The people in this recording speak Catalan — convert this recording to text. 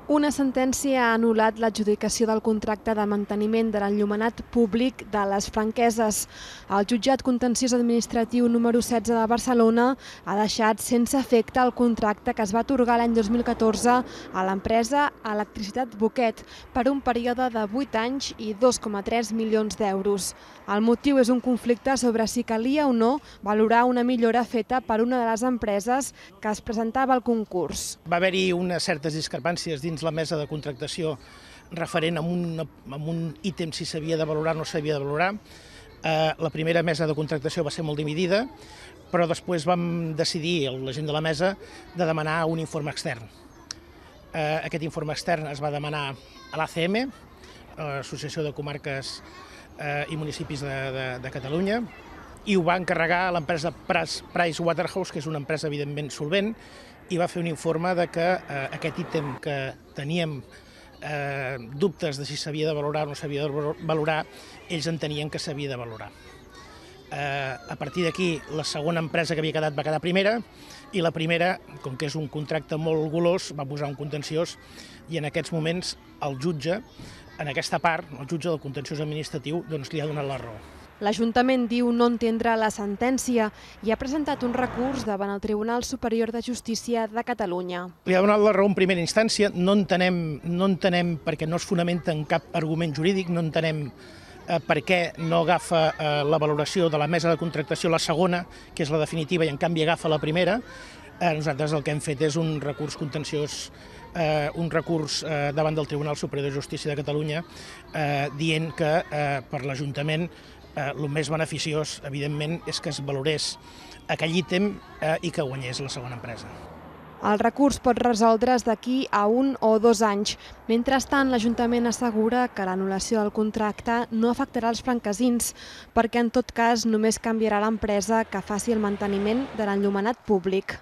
Una sentència ha anul·lat l'adjudicació del contracte de manteniment de l'enllumenat públic de les Franqueses. El jutjat contenciós administratiu número 16 de Barcelona ha deixat sense efecte el contracte que es va atorgar l'any 2014 a l'empresa Electricitat Boquet per un període de 8 anys i 2,3 milions d'euros. El motiu és un conflicte sobre si calia o no valorar una millora feta per una de les empreses que es presentava al concurs. Va haver-hi unes certes discrepàncies dins la mesa de contractació referent a un ítem si s'havia de valorar o no s'havia de valorar. La primera mesa de contractació va ser molt dividida, però després vam decidir, la gent de la mesa, de demanar un informe extern. Aquest informe extern es va demanar a l'ACM, l'Associació de Comarques i Municipis de Catalunya, i ho va encarregar a l'empresa Pricewaterhouse, que és una empresa evidentment solvent, i va fer un informe de que aquest ítem que teníem dubtes de si s'havia de valorar o no s'havia de valorar, ells entenien que s'havia de valorar. A partir d'aquí, la segona empresa que havia quedat va quedar primera, i la primera, com que és un contracte molt golós, va posar un contenciós, i en aquests moments el jutge, en aquesta part, el jutge del contenciós administratiu, doncs li ha donat la raó. L'Ajuntament diu no entendre la sentència i ha presentat un recurs davant el Tribunal Superior de Justícia de Catalunya. Li ha donat la raó en primera instància, no entenem perquè no es fonamenta en cap argument jurídic, no entenem per què no agafa la valoració de la mesa de contractació la segona, que és la definitiva, i en canvi agafa la primera. Nosaltres el que hem fet és un recurs contenciós, un recurs davant del Tribunal Superior de Justícia de Catalunya, dient que per l'Ajuntament el més beneficiós, evidentment, és que es valorés aquell ítem i que guanyés la segona empresa. El recurs pot resoldre's d'aquí a 1 o 2 anys. Mentrestant, l'Ajuntament assegura que l'anul·lació del contracte no afectarà els franquesins, perquè en tot cas només canviarà l'empresa que faci el manteniment de l'enllumenat públic.